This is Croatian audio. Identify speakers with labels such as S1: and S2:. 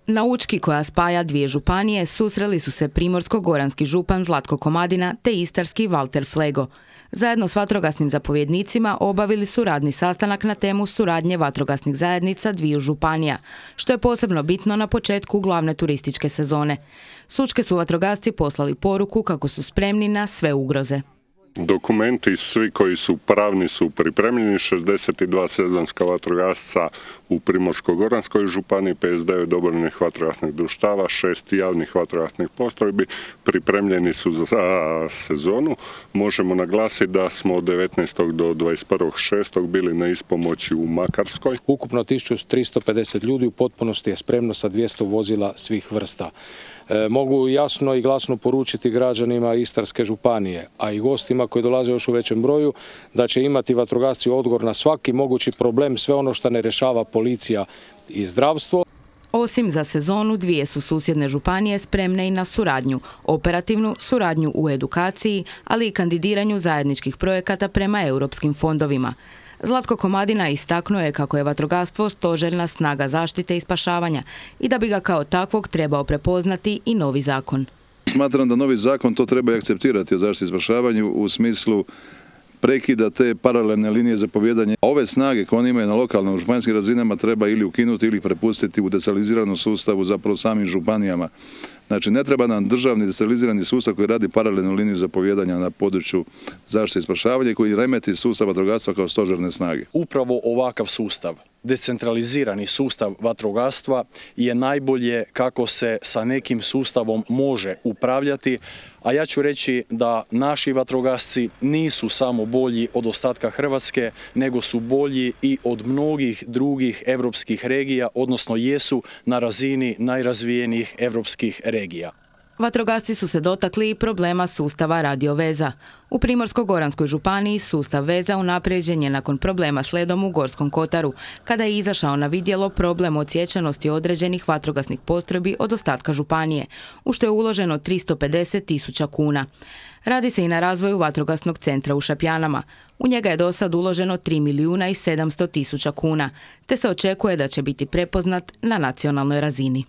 S1: Na Učki, koja spaja dvije županije, susreli su se primorsko-goranski župan Zlatko Komadina te istarski Valter Flego. Zajedno s vatrogasnim zapovjednicima obavili su radni sastanak na temu suradnje vatrogasnih zajednica dviju županija, što je posebno bitno na početku glavne turističke sezone. S Učke su vatrogasci poslali poruku kako su spremni na sve ugroze.
S2: Dokumenti svi koji su pravni su pripremljeni, 62 sezonska vatrogasca u Primorsko-goranskoj županiji, 59 dobrovoljnih vatrogasnih društava, 6 javnih vatrogasnih postrojbi pripremljeni su za sezonu. Možemo naglasiti da smo od 19. do 21.6. bili na ispomoći u Makarskoj.
S3: Ukupno 1350 ljudi u potpunosti je spremno sa 200 vozila svih vrsta. Mogu jasno i glasno poručiti građanima Istarske županije, a i gostima koji dolaze još u većem broju, da će imati vatrogasci odgovor na svaki mogući problem, sve ono što ne rješava policija i zdravstvo.
S1: Osim za sezonu, dvije su susjedne županije spremne i na suradnju, operativnu suradnju u edukaciji, ali i kandidiranju zajedničkih projekata prema europskim fondovima. Zlatko Komadina istaknuo je kako je vatrogastvo stožerna snaga zaštite i spašavanja i da bi ga kao takvog trebao prepoznati i novi zakon.
S4: Smatram da novi zakon to treba i akceptirati o zaštiti i spašavanju u smislu prekida te paralelne linije zapovijedanja. Ove snage koje oni imaju na lokalnim županijskim razinama treba ili ukinuti ili prepustiti u decentraliziranom sustavu zapravo samim županijama. Znači, ne treba nam državni decentralizirani sustav koji radi paralelnu liniju zapovijedanja na području zaštite i spašavanja koji remeti sustav vatrogastva kao stožerne snage.
S5: Upravo ovakav sustav, decentralizirani sustav vatrogastva, je najbolje kako se sa nekim sustavom može upravljati, a ja ću reći da naši vatrogasci nisu samo bolji od ostatka Hrvatske, nego su bolji i od mnogih drugih europskih regija, odnosno jesu na razini najrazvijenijih europskih regija.
S1: Vatrogasci su se dotakli i problema sustava radioveza. U Primorsko-goranskoj županiji sustav veza unaprijeđen je nakon problema s ledom u Gorskom kotaru, kada je izašao na vidjelo problem odsječenosti određenih vatrogasnih postrojbi od ostatka županije, u što je uloženo 350.000 kuna. Radi se i na razvoju vatrogasnog centra u Šapjanama. U njega je do sad uloženo 3.700.000 kuna, te se očekuje da će biti prepoznat na nacionalnoj razini.